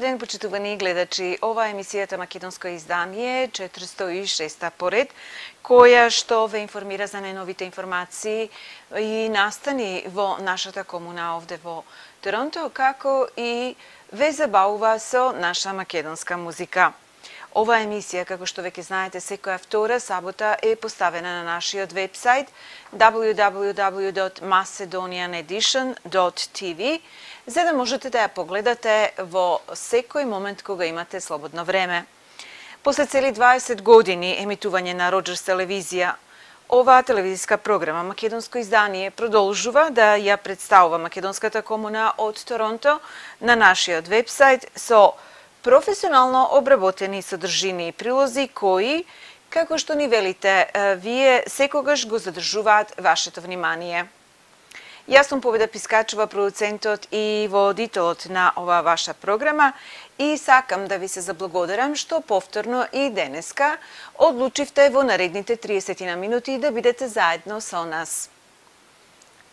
ден, почитувани гледачи. Ова е емисијата Македонско издание 406 поред, која што ве информира за најновите информации и настани во нашата комуна овде во Торонто, како и ве забавува со наша македонска музика. Ова емисија, како што веќе знаете, секоја втора сабота е поставена на нашиот вебсайт www.macedonianedition.tv, за да можете да ја погледате во секој момент кога имате слободно време. После цели 20 години емитување на Роџерс телевизија, оваа телевизиска програма Македонско издание продолжува да ја представува македонската комуна од Торонто на нашиот вебсайт со професионално обработени содржини и прилози кои, како што ни велите, вие секогаш го задржуваат вашето внимание. Јас сум Победа Пискачова, продуцентот и водителот на оваа ваша програма, и сакам да ви се заблагодарам што повторно и денеска одлучивте во наредните 30 минути да бидете заедно со нас.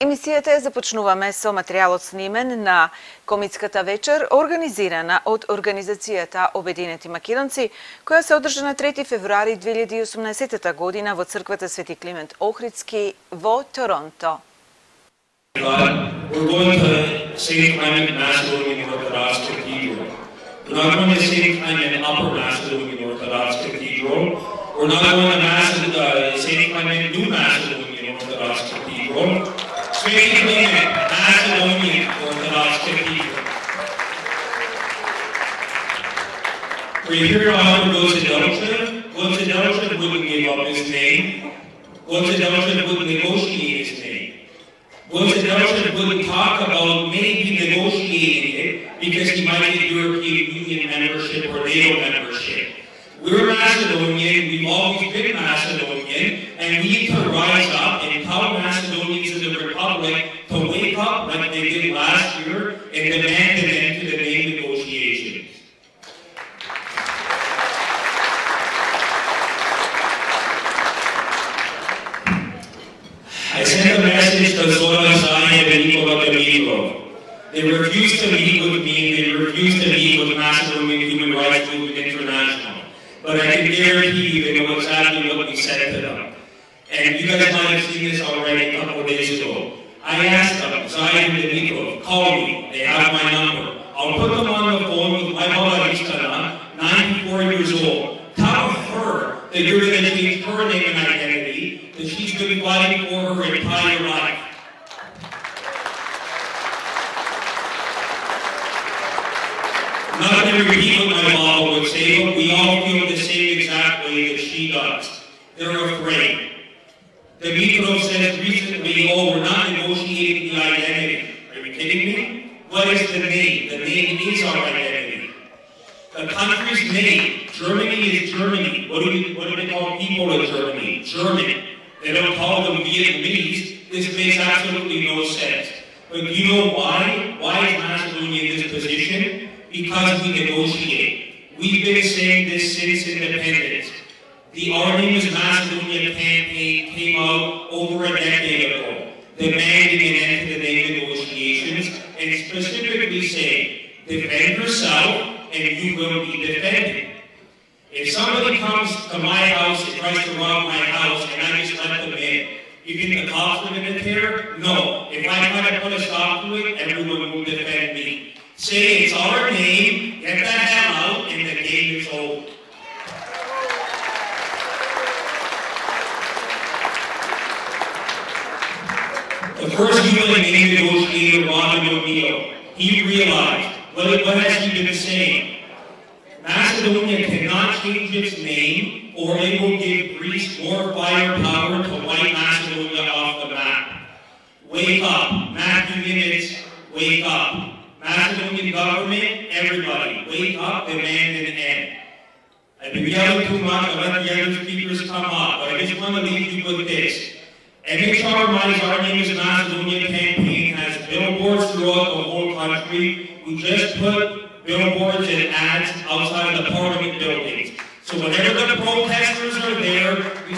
Емисијата ја започнуваме со материјалот снимен на комитската вечер, организирана од Организацијата Обединети македонци, која се одржа на 3 февруари 2018 година во црквата Свети Климент Охридски во Торонто. We're going to St. Clement Macedonian Orthodox Cathedral. We're not going to St. Clement Upper Macedonian Orthodox Cathedral. We're not going to St. Clement New Macedonian Orthodox Cathedral. St. Clement Macedonian Orthodox Cathedral. We're here to honor Gozedelchev. Gozedelchev wouldn't give up his name. Gozedelchev wouldn't negotiate his name. Gozedelchev wouldn't talk about maybe negotiating it because he might get European Union membership or NATO membership. We're Macedonian, we've always been Macedonian, and we need to rise up and tell Macedonians in the Republic to wake up like they did last year and demand an end to the name negotiations. I sent a message to Zoran Zaev and Nikola Dimitrov. They refused to meet with me, they refused to meet with Macedonian Human Rights Movement International. But I can guarantee you they know exactly what we said to them. And you guys might have seen this already a couple of days ago. I asked them, Zaev and Dimitrov, call me, they have my number. I'll put them on the phone with my mother Istana, 94 years old. Tell her that you're going to change her name and identity, that she's been fighting for her entire life. I'm not going to repeat what my mom would say, but we all feel the same exact way that she does. They're afraid. Dimitrov says recently, oh, we're not negotiating the identity. Are you kidding me? What is the name? The name is our identity. The country's name, Germany, is Germany. What do they call people in Germany? German. They don't call them Vietnamese. This makes absolutely no sense. But you know why? Why is Macedonia in this position? Because we negotiate. We've been saying this since independence. The Our Name is Macedonia campaign came out over a decade ago, demanding an end to the name negotiations, and specifically saying, defend yourself and you will be defended. If somebody comes to my house and tries to rob my house and I just let them in, you think the cops are going to care? No. If I try to put a stop to it, everyone will defend me. Say it's our name, get the hell out, and the game is over. The first UN name negotiator, Ronald O'Neill, he realized, what has he been saying? Macedonia cannot change its name, or it will give Greece more firepower to wipe Macedonia off the map. Wake up, Matthew Nimitz, wake up. Macedonian government, everybody, wake up, demand an end. I've been yelling too much, I'll let the other speakers come up, but I just want to leave you with this. MHR My Our Name is Macedonia campaign has billboards throughout the whole country. We just put billboards and ads outside of the Parliament buildings. So whenever the protesters are there, we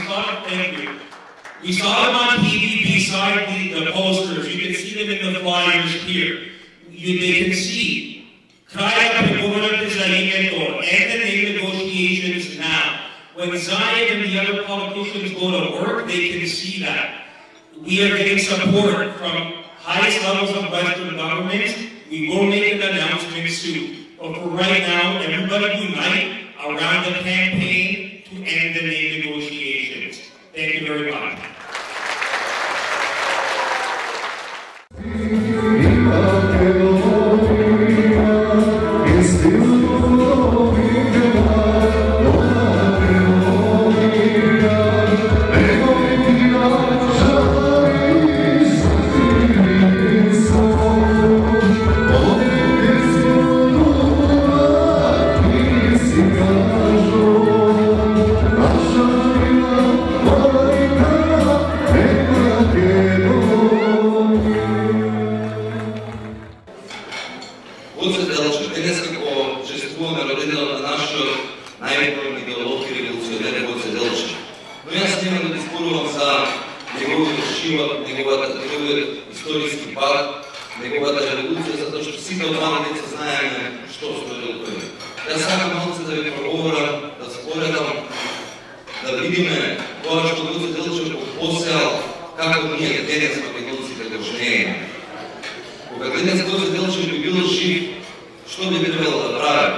saw them on TV beside the posters. You can see them in the flyers here. They can see. Kraja pregovorate see that. We are getting support from highest levels of Western governments. We will make an announcement soon. But for right now, everybody unite around the campaign to end the name negotiations. Thank you very much. неговиот историски пат, неговата револуција, затоа што сите од мали деца знаеме што сторил тој. Јас сакам малку да ви проговорам, да споредам, да видиме тоа што Гоце Делчев посеал, како ние денес македонците го жнееме. Кога денес Гоце Делчев би бил жив, што би требало да прави?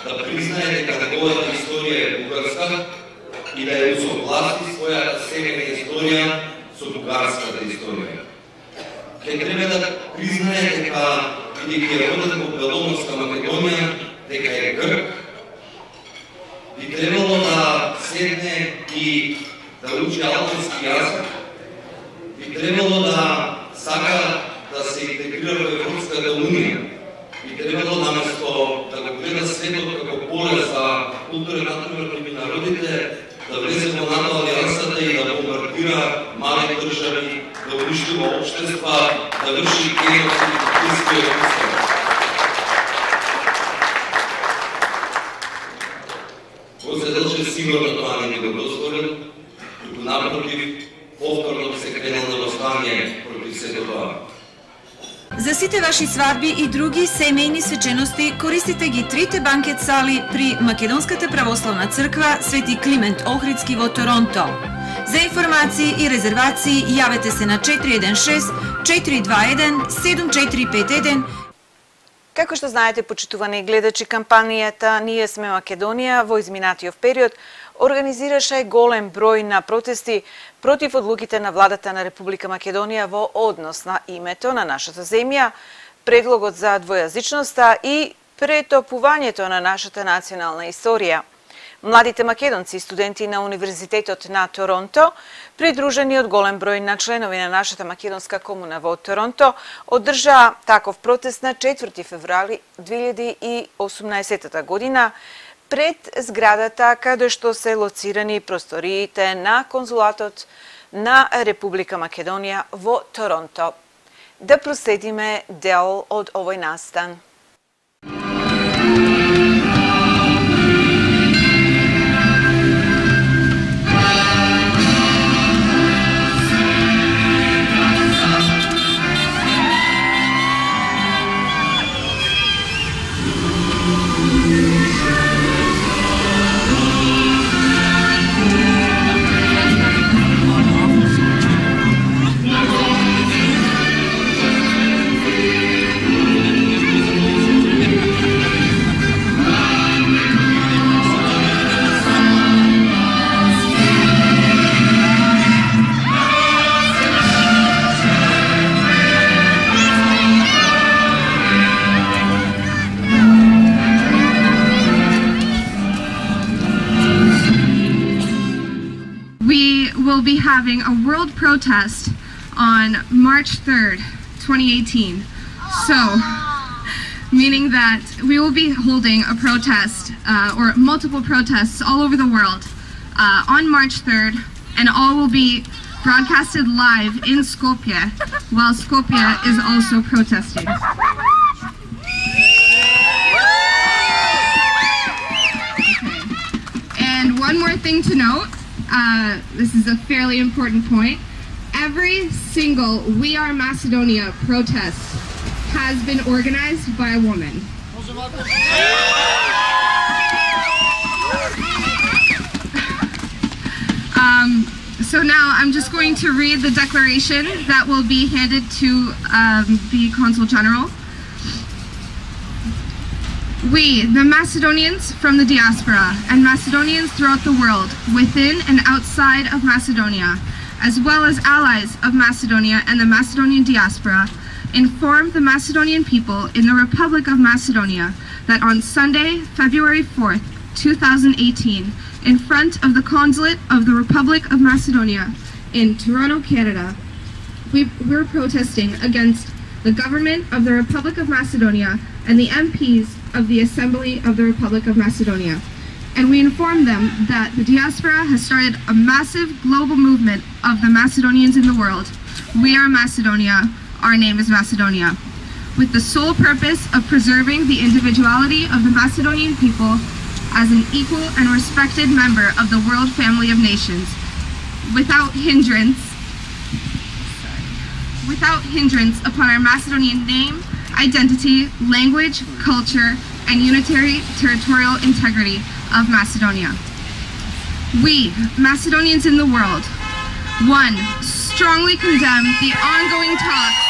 Да признае дека неговата историја е бугарска и да ја усогласи својата семејна историја со бугарската историја. Ке треба да признае дека, бидејќи е роден во Беломорска Македонија, дека е грк, би требало да седне и да учи албански јазик, би требало да сака да се интегрира во Европската унија, би требало наместо да го гледа светот како поле за културен натпревар меѓу народите, да влезе во НАТО алијансата и да бомбардира мали држави, да уништува општества, да врши геноцид и историја. Гоце Делчев сигурно тоа не би го дозволил, туку напротив, повторно се кренел на восстание против сето тоа. За сите ваши свадби и други семејни свечености користите ги трите банкет сали при Македонската православна црква Свети Климент Охридски во Торонто. За информации и резервации јавете се на 416-421-7451. Како што знаете, почитувани гледачи, кампанијата Ние сме Македонија во изминатиот период организираше голем број на протести против одлуките на владата на Република Македонија во однос на името на нашата земја, предлогот за двојазичноста и претопувањето на нашата национална историја. Младите македонци и студенти на Универзитетот на Торонто, придружени од голем број на членови на нашата македонска комуна во Торонто, одржаа таков протест на 4 февруари 2018 година пред зградата каде што се лоцирани просториите на конзулатот на Република Македонија во Торонто. Да проследиме дел од овој настан. We'll be having a world protest on March 3rd, 2018. So, meaning that we will be holding a protest or multiple protests all over the world on March 3rd, and all will be broadcasted live in Skopje while Skopje is also protesting. Okay. And one more thing to note. This is a fairly important point. Every single We Are Macedonia protest has been organized by a woman. So now I'm just going to read the declaration that will be handed to the Consul General. We, the Macedonians from the diaspora, and Macedonians throughout the world, within and outside of Macedonia, as well as allies of Macedonia and the Macedonian diaspora, inform the Macedonian people in the Republic of Macedonia that on Sunday, February 4th, 2018, in front of the Consulate of the Republic of Macedonia in Toronto, Canada, we're protesting against the government of the Republic of Macedonia and the MPs of the Assembly of the Republic of Macedonia. And we inform them that the diaspora has started a massive global movement of the Macedonians in the world. We are Macedonia, our name is Macedonia, with the sole purpose of preserving the individuality of the Macedonian people as an equal and respected member of the world family of nations, without hindrance upon our Macedonian name, identity, language, culture, and unitary territorial integrity of Macedonia. We, Macedonians in the world, 1. Strongly condemn the ongoing talks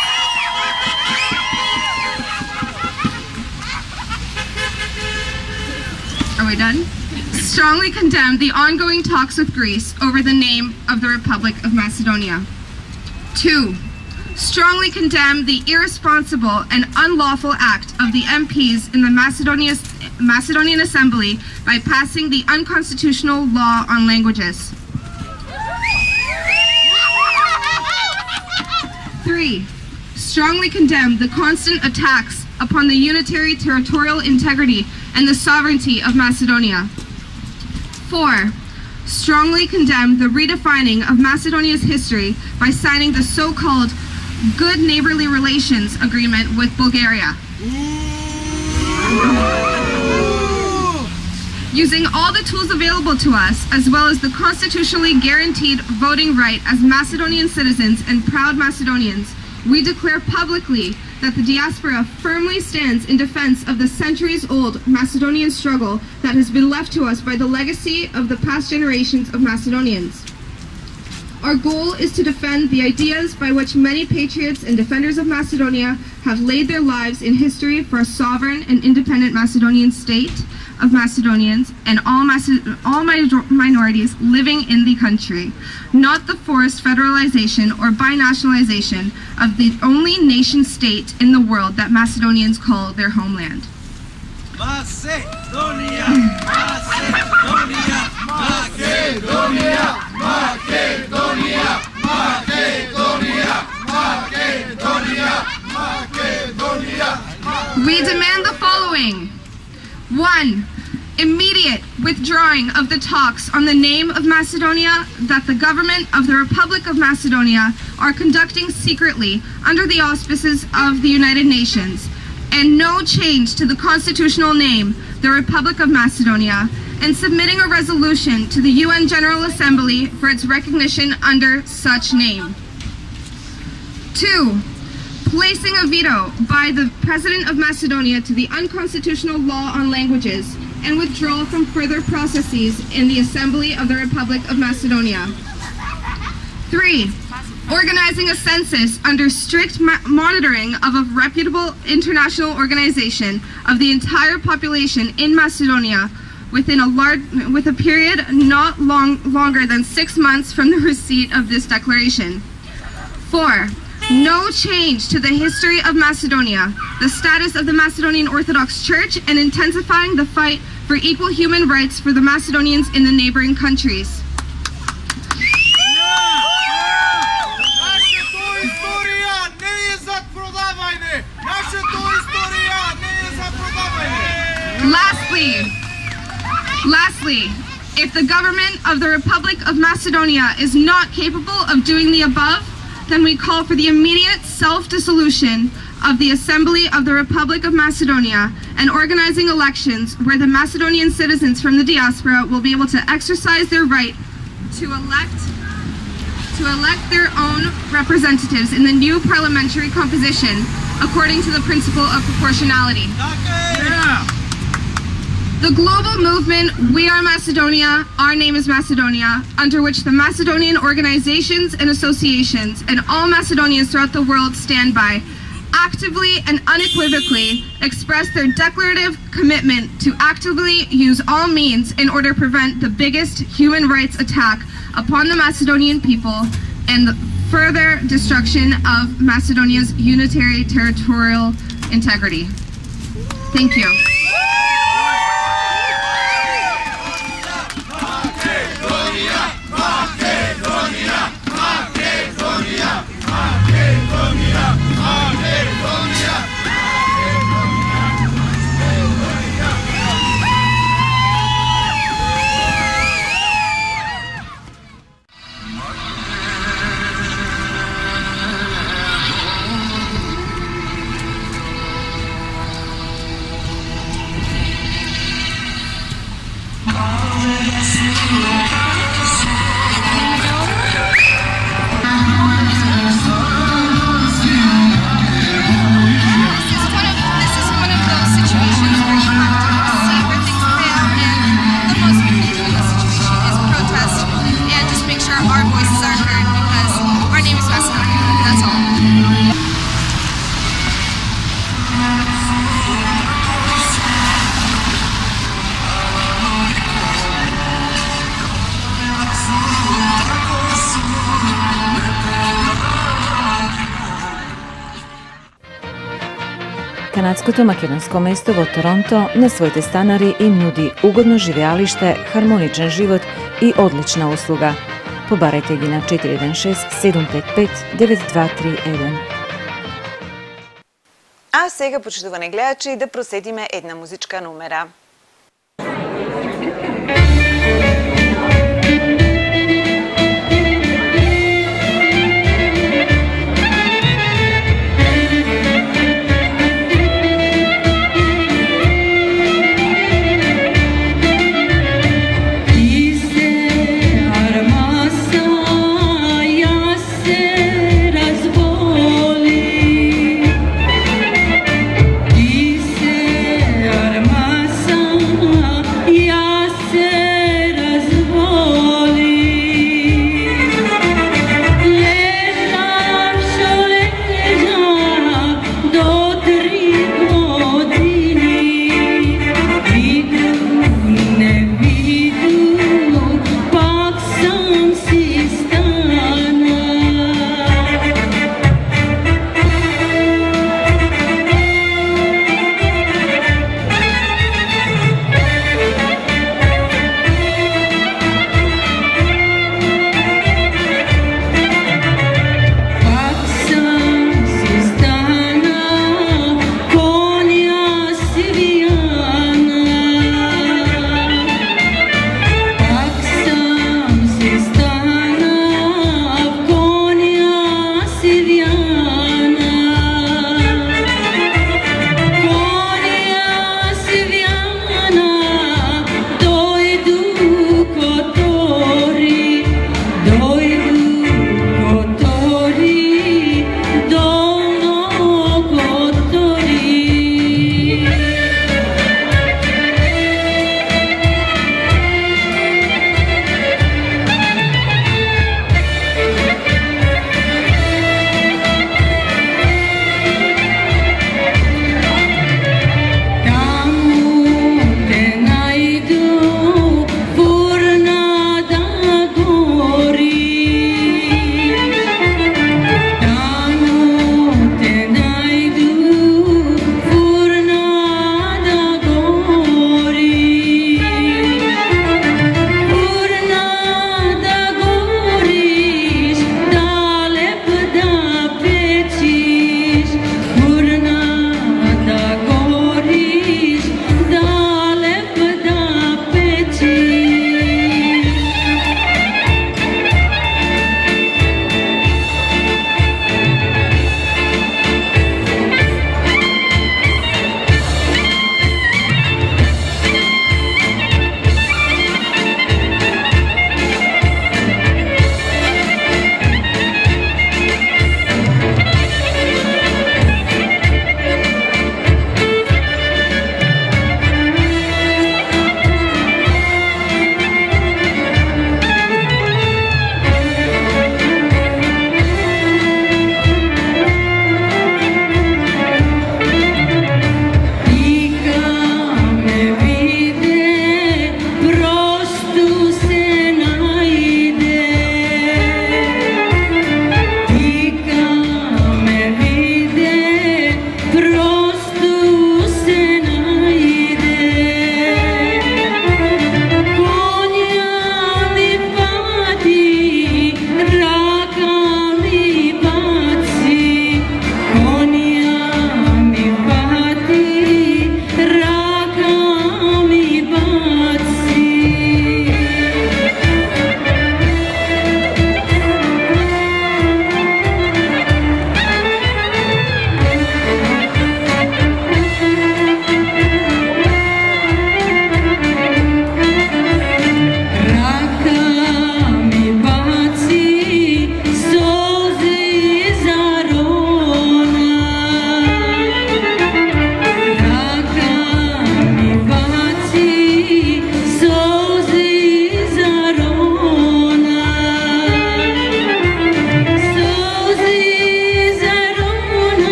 Are we done? Strongly condemn the ongoing talks with Greece over the name of the Republic of Macedonia. 2. Strongly condemn the irresponsible and unlawful act of the MPs in the Macedonian Assembly by passing the unconstitutional law on languages. 3. Strongly condemn the constant attacks upon the unitary territorial integrity and the sovereignty of Macedonia. 4. Strongly condemn the redefining of Macedonia's history by signing the so-called Good Neighborly Relations Agreement with Bulgaria. Using all the tools available to us, as well as the constitutionally guaranteed voting right as Macedonian citizens and proud Macedonians, we declare publicly that the diaspora firmly stands in defense of the centuries-old Macedonian struggle that has been left to us by the legacy of the past generations of Macedonians. Our goal is to defend the ideas by which many patriots and defenders of Macedonia have laid their lives in history for a sovereign and independent Macedonian state of Macedonians and all minorities living in the country, not the forced federalization or binationalization of the only nation-state in the world that Macedonians call their homeland. Macedonia! Macedonia! Macedonia! Macedonia! Macedonia! Macedonia! Macedonia! We demand the following. 1. Immediate withdrawing of the talks on the name of Macedonia that the government of the Republic of Macedonia are conducting secretly under the auspices of the United Nations, and no change to the constitutional name, the Republic of Macedonia, and submitting a resolution to the UN General Assembly for its recognition under such name. 2. Placing a veto by the President of Macedonia to the unconstitutional law on languages and withdrawal from further processes in the Assembly of the Republic of Macedonia. 3. Organizing a census under strict monitoring of a reputable international organization of the entire population in Macedonia with a period not longer than 6 months from the receipt of this declaration. 4. No change to the history of Macedonia, the status of the Macedonian Orthodox Church, and intensifying the fight for equal human rights for the Macedonians in the neighboring countries. Lastly, if the government of the Republic of Macedonia is not capable of doing the above, then we call for the immediate self-dissolution of the Assembly of the Republic of Macedonia and organizing elections where the Macedonian citizens from the diaspora will be able to exercise their right to elect their own representatives in the new parliamentary composition according to the principle of proportionality. The global movement, We Are Macedonia, Our Name is Macedonia, under which the Macedonian organizations and associations and all Macedonians throughout the world stand by, actively and unequivocally express their declarative commitment to actively use all means in order to prevent the biggest human rights attack upon the Macedonian people and the further destruction of Macedonia's unitary territorial integrity. Thank you. Канадското македонско место во Торонто на своите станари им нуди угодно живеалиште, хармоничен живот и одлична услуга. Побарајте ги на 416-755-9231. А сега, почитувани гледачи, да проследиме една музичка номера. Armasa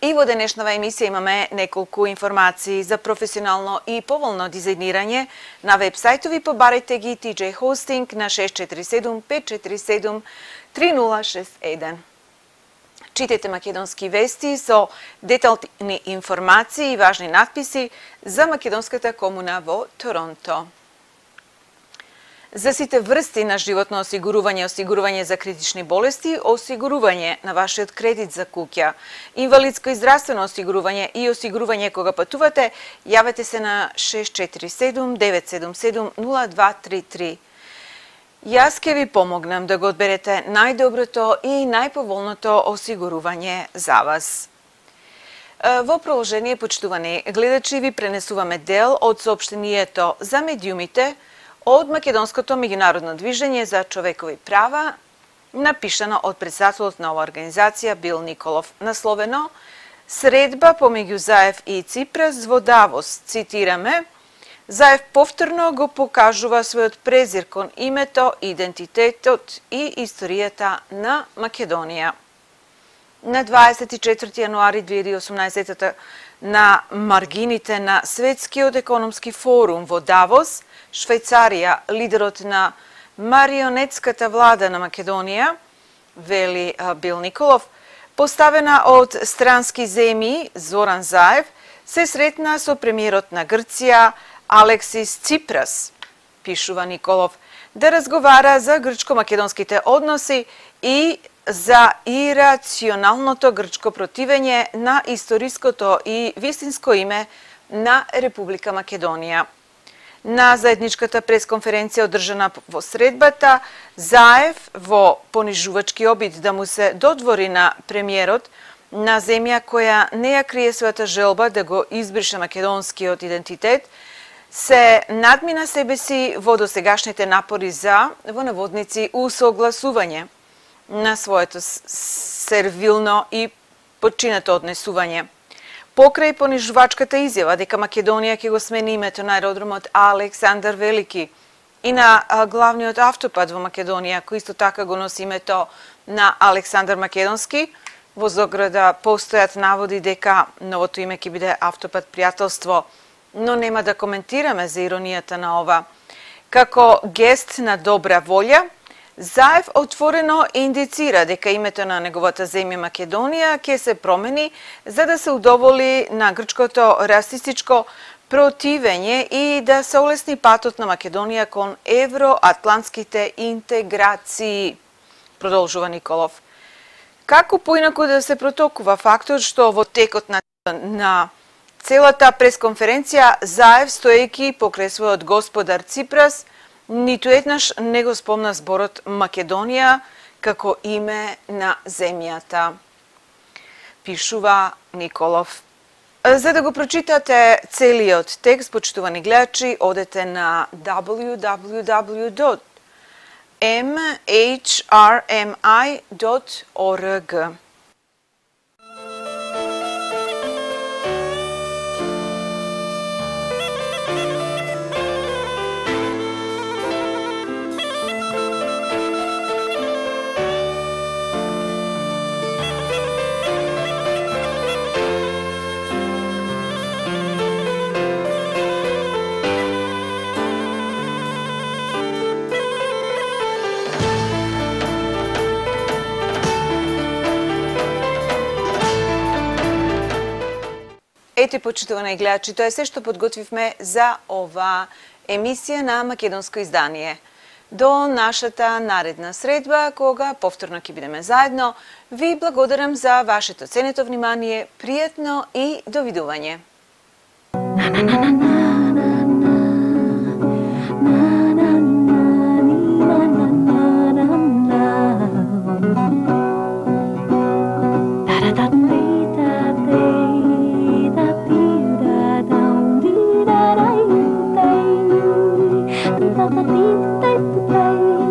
И во денешнава емисија имаме неколку информации за професионално и поволно дизајнирање на вебсајтови. Побарајте ги TJ Hosting на 647 547 3061. Читайте македонски вести со детални информации и важни надписи за македонската комуна во Торонто. За сите врсти на животно осигурување, осигурување за критични болести, осигурување на вашиот кредит за куќа, инвалидско и здравствено осигурување и осигурување кога патувате, јавете се на 647 977 0233. Јас ќе ви помогнам да го одберете најдоброто и најповолното осигурување за вас. Во продолжение, почитувани гледачи, ви пренесуваме дел од соопштението за медиумите од Македонското меѓународно движење за човекови права, напишано од председателот на оваа организација Бил Николов, насловено "Средба помеѓу Заев и Ципрас во Давос", цитираме: "Заев повторно го покажува својот презир кон името, идентитетот и историјата на Македонија." На 24 јануари 2018 на маргините на Светскиот економски форум во Давос, Швајцарија, лидерот на марионетската влада на Македонија, вели Бил Николов, поставена од странски земји Зоран Заев, се сретна со премиерот на Грција Алексис Ципрас, пишува Николов, да разговара за грчко-македонските односи и за ирационалното грчко противење на историското и вистинско име на Република Македонија. На заедничката пресконференција одржана во средбата, Заев во понижувачки обид да му се додвори на премиерот на земја која не ја крие својата желба да го избрише македонскиот идентитет, се надмина себе си во досегашните напори за, во наводници, усогласување на своето сервилно и подчинето однесување. Покрај понижувачката изјава дека Македонија ќе го смени името на аеродромот Александар Велики и на главниот автопат во Македонија, кој исто така го носи името на Александар Македонски, во заграда постојат наводи дека новото име ќе биде автопат Пријателство, но нема да коментираме за иронијата на ова. Како гест на добра волја, Заев отворено индицира дека името на неговата земја Македонија ќе се промени за да се удоволи на грчкото расистичко противење и да се олесни патот на Македонија кон евроатлантските интеграции, продолжува Николов. Како поинаку да се протокува фактот што во текот на целата пресконференција Заев, стоејќи покрај својот господар Ципрас, ниту еднаш не го спомна зборот Македонија како име на земјата, пишува Николов. За да го прочитате целиот текст, почитувани гледачи, одете на www.mhrmi.org. Ете, почитувани гледачи, тоа е се што подготвивме за ова емисија на македонско издание. До нашата наредна средба, кога повторно ќе бидеме заедно, ви благодарам за вашето ценето внимание, пријатно и довидување. Thank you.